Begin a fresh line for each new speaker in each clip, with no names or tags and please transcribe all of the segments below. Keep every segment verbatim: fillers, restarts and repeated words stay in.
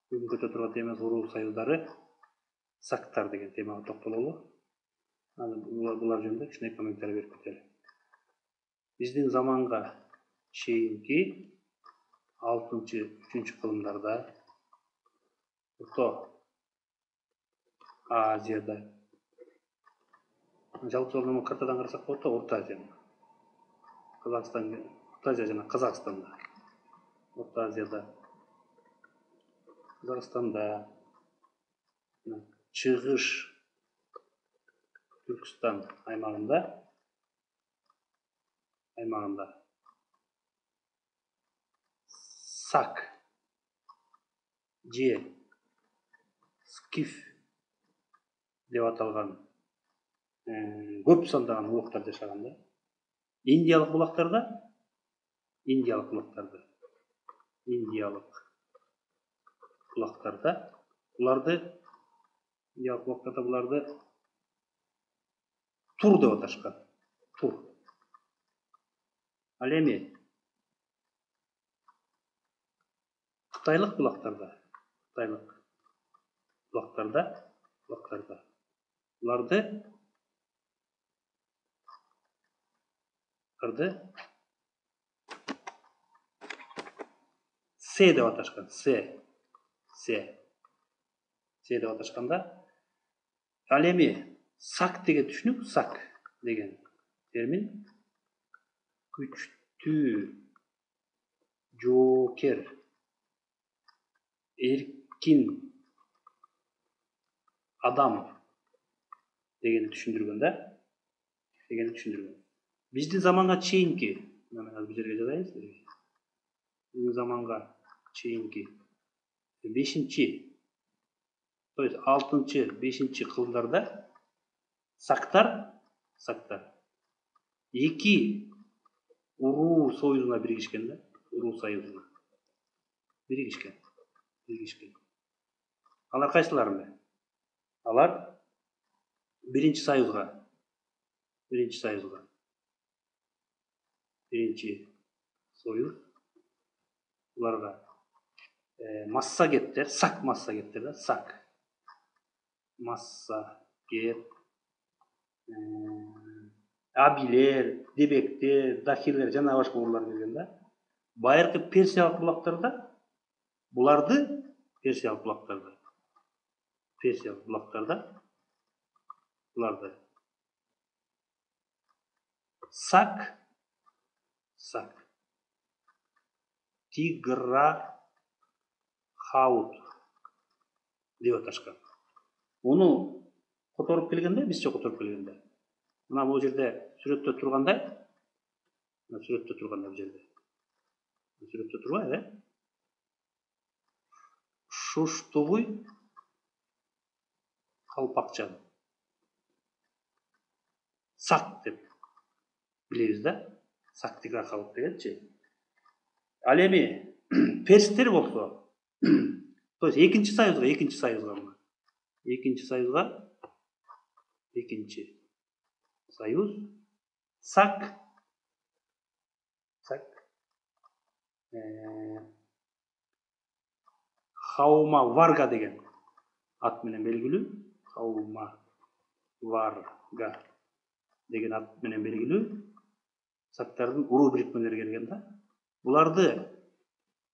Бүгүн көтөрүп турган темабыз уруу союздары, сактар деген темага токтололу. Анан булар жөнүндө кичине комментарий берип кетели. Биздин заманга чейинки алтынчы үчүнчү кылымдарда Орто Азияда, жалпы сонун картадан карасак болот да, Орто Азия. Казакстан, Орто Азия жана Казакстанда. Орто Азияда, Казакстанда, Чыгыш Түркстан аймагында аймагында Сак же Скиф деп аталган көп сандаган улуктар жашаган да. Индиялык булактарда, Индиялык булактарда, Индиялык булактарда буларды Индиялык булактарда буларды Тур деп аташкан. Тур. Ал эми Кытайлык булактарда, Кытайлык булактарда, булактарда буларды буларды Се деп аташкан. Се. Се. Се деп аташканда, ал эми Сак деген түшүнүк, Сак деген термин күчтүү, жоокер, эркин адам дегенди түшүндүргөн да, дегенди түшүндүргөн. Биздин заманга чейинки, мен азыр бул жерге жазайын силерге. Биздин заманга чейинки бешинчи, то есть алтынчы, бешинчи кылымдарда Сактар, Сактар эки уруу союзуна биригишкен да, уруу союзуна биригишкен, биригишкен. Алар кайсылар? Алар биринчи союзга, биринчи союзга, биринчи союз, буларга массагеттер, Сак массагеттер да, Сак, массагет, абилер, дебектер, дахилер жана башка уруулар келген да. Байыркы персиялык булактарда буларды персиялык булактарда, персиялык булактарда буларды Сак, Сак, Тиграхаут деп аташкан. Муну которуп келгенде, бизче которуп келгенде, мына бул жерде сүрөттө тургандай, мына сүрөттө тургандай бул жерде. Сүрөттө турбайбы, э? Шуштугуй калпакчан. Сак деп билебиз да. Сак Тиграхаут дегенчи. Ал эми перстер болсо, то есть экинчи союзга, экинчи союзга мына. Экинчи союзга, экинчи союз Сак, Сак, Хаума Варга деген ат менен белгилүү, Хаума Варга деген ат менен белгилүү Сактардын уруу бириктмелери келген да. Буларды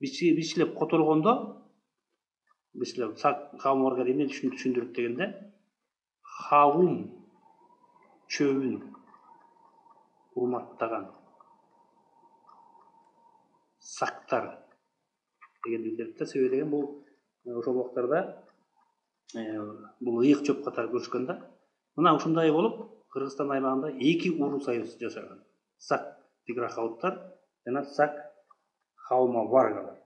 бичлеп которгондо, бичлеп Сак, Хаума Варга эмне түшүндүрөт дегенде, Хаум чөбүн урматтаган Сактар деген билдирип да. Себеби деген бул ошол убактарда бул ыйык чөп катары көрүшкөн да. Мына ушундай болуп Кыргызстан аймагында эки уруу союз жашаган. Сак Тиграхауттар жана Сак Хаума Варгалар.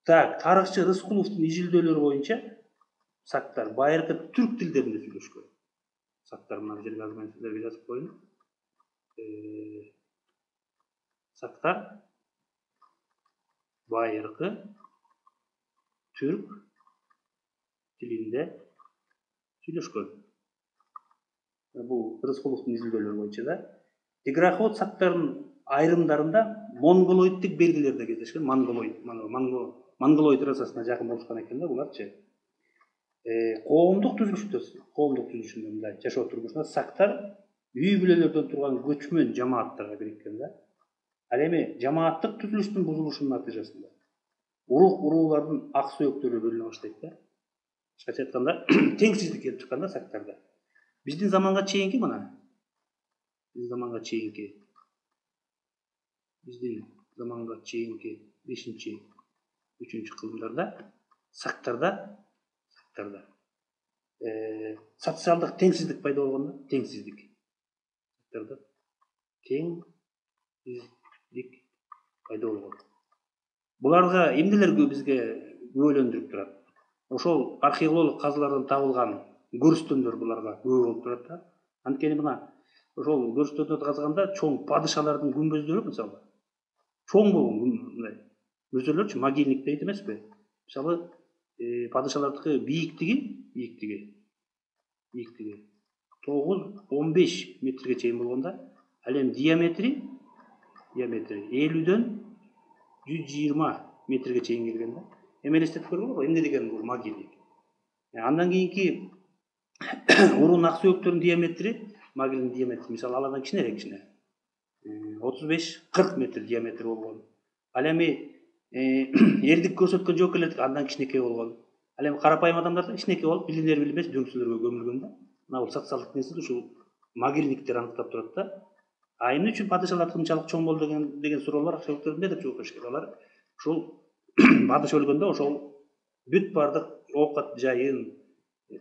Так, тарыхчы Рыскуловдун изилдөөлөрү боюнча Сактар байыркы түрк тилдеринде сүйлөшкөн. Сактар мына жерге азыр мен силерге жазып коеюн. Сактар байыркы түрк тилинде сүйлөшкөн. Бул Рыскуловдун изилдөөлөрү боюнча да. Тиграхаут Сактардын айрымдарында монголоидтик белгилер да кездешкен. Монголоид, монго монголой трассасына жакын болушкан экен да буларчы. Коомдук түзүлүштө, коомдук түзүлүшүндө мындай жашоо турмушунда сактар үй бүлөлөрдөн турган көчмөн жамааттарга бириккен да. Ал эми жамааттык түзүлүштүн бузулушунун натыйжасында урук уруулардын ак сөөктөрү бөлүнө баштайт да. Кыскача айтканда теңсиздик келип чыккан да сактарда. Биздин заманга чейинки мына биздин заманга чейинки биздин заманга чейинки бешинчи үчүнчү кылымдарда сактарда сактарда э социалдык теңсиздик пайда болгон да, теңсиздик. Сактарда теңсиздик пайда болгон. Буларга эмнелер бизге күбөлөндүрүп турат? Ошол археологиялык казылардан табылган көрүстөндөр буларга күбө болуп турат да. Анткени мына ошол көрүстөндөрдү казганда чоң падышалардын күмбөздөрү мисалы чоң болгон мындай мүрзөлөрчү, могильник дейт эмеспи? Мисалы падышалардыкы бийиктиги, бийиктиги, бийиктиги тогуз он беш метрге чейин болгонда, ал эми диаметри, диаметри элүүдөн жүз жыйырма метрге чейин келген да. Эми элестетип көргүлөрбү, эмне деген бул могильник? Андан кийинки урун ак сөөктөрүнүн диаметри, могильниктин диаметри мисалы алардан кичинерээк кичине. отуз беш кырк метр диаметри болгон. Ал эми эрдик көрсөткөн жоокерлердики андан кичинекей болгон. Ал эми карапайым адамдардын кичинекей болуп, билинер билинбес дөңсөлөргө көмүлгөн да. Мына бул социалдык теңсиздик ушул могильниктер аныктап турат да. А эмне үчүн падышалар мынчалык чоң болду деген деген суроолор археологдор эмне деп жооп беришкен? Алар ушул падыша өлгөндө ошол бүт бардык оокат жайын,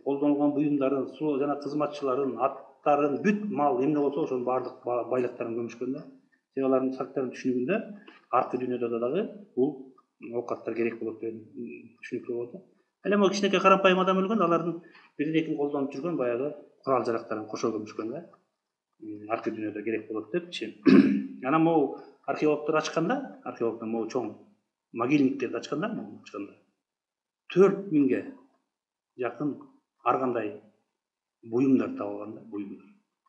колдонулган буюмдарын, суу жана кызматчыларын, аттарын, бүт мал эмне болсо ошонун бардык байлыктарын көмүшкөн да. Себеби алардын сактардын түшүнүгүндө аркы дүйнөдө дагы бул оокаттар керек болот деген түшүнүктөр болот да. Ал эми кичинекей карапайым адам өлгөндө алардын бирин экин колдонуп жүргөн баягы курал жарактарын кошо көмүшкөн да. Аркы дүйнөдө керек болот депчи. Анан могу археологдор ачканда, археологдор могу чоң могильниктерди ачканда, могу ачканда төрт миңге жакын ар кандай буюмдар табылган да, буюмдар.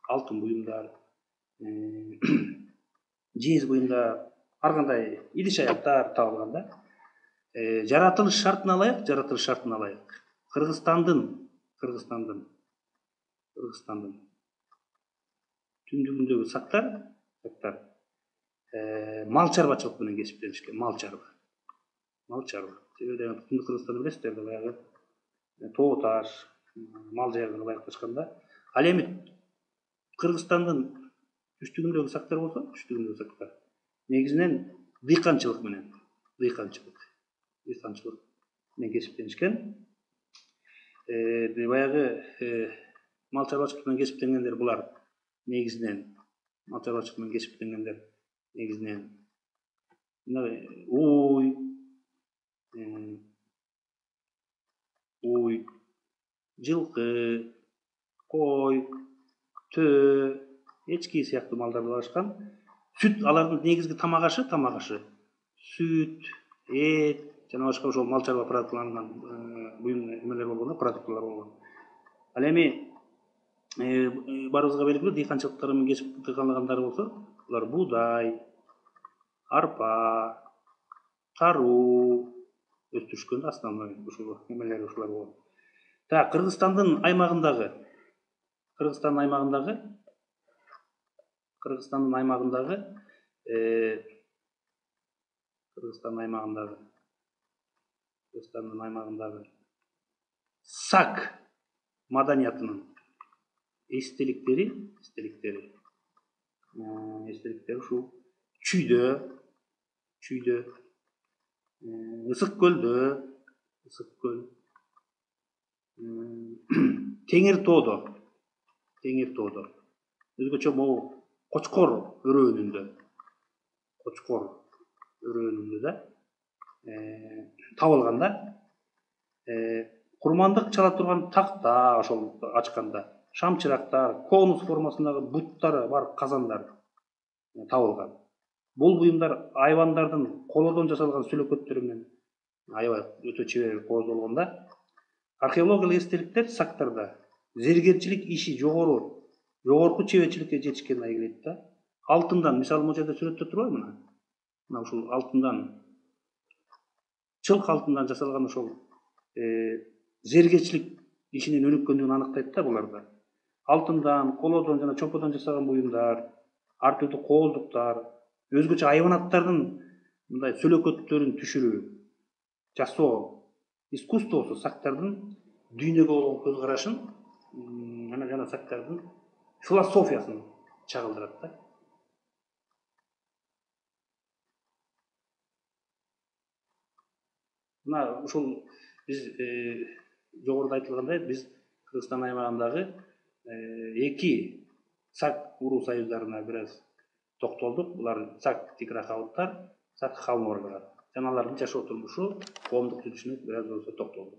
Алтын буюмдар, жез буюмдар, ар кандай идиш аяктар табылган да. Жаратылыш шартына ылайык, жаратылыш шартына ылайык. Кыргызстандын, Кыргызстандын, Кыргызстандын түндүгүндөгү сактар, сактар мал чарбачылык менен кесиптенишкен, мал чарба. Мал чарба. Себеби Түндүк Кыргызстанды билесиздер да, баягы тоо таш, мал жайларга ылайыкташканда. Ал эми Кыргызстандын түштүгүндөгү сактар болсо, түштүгүндөгү сактар негизинен дыйканчылык менен, дыйканчылык, дыйканчылык менен кесиптенишкен. Э баягы мал чарбачылык менен кесиптенгендер булар негизинен мал чарбачылык менен кесиптенгендер негизинен уй, уй, жылкы, кой, төө, эчки сыяктуу малдарды багышкан. Сүт алардын негизги тамак ашы, тамак ашы. Сүт, эт жана башка ошол мал чарба продуктларынан буюм эмелер болгон, продуктлар болгон. Ал эми баарыбызга белгилүү дыйканчылыктар менен кесип тыйганлагандар болсо, булар буудай, арпа, таруу өстүрүшкөн основной ушул эмелер ушулар болгон. Так, Кыргызстандын аймагындагы Кыргызстандын аймагындагы Кыргызстандын аймагындагы э Кыргызстандын аймагындагы Кыргызстандын аймагындагы сак маданиятынын эстеликтери, эстеликтери, эстеликтери ушул Чүйдө, Чүйдө, Ысык көлдө, Ысык көл, Теңир тоодо, Теңир тоодо. Өзгөчө могу Кочкор өрөөнүндө, Кочкор өрөөнүндө да табылган да. Курмандык чала турган такта ошол ачканда, шамчырактар, конус формасындагы буттары бар казандар табылган. Бул буюмдар айвандардын колодон жасалган сүлөкөттөрү менен аябай өтө чебер кооздолгон да. Археологиялык эстеликтер сактарда зергерчилик иши жогору, жогорку чеберчиликке жетишкени айгилейт да. Алтындан, мисалы, могу жерде сүрөттө турбайбы мына? Мына ушул алтындан жылк алтындан жасалган ошол зергечилик ишинин өнүккөндүгүн аныктайт да буларда. Алтындан, колодон жана чоподон жасалган буюмдар, ар түрдүү коолдуктар, өзгөчө айванаттардын мындай сөлөкөттөрүн түшүрүү, жасоо искусствосу сактардын дүйнөгө болгон көз карашын, анан жана сактардын философиясын чагылдырат да. Мына ушул биз жогоруда айтылгандай, биз Кыргызстан аймагындагы эки сак уруу союздарына бир аз токтолдук. Булар сак тиграхауттар, сак хаморлар жана алардын жашоо турмушу, коомдук жүрүшүнө бир аз болсо токтолдук.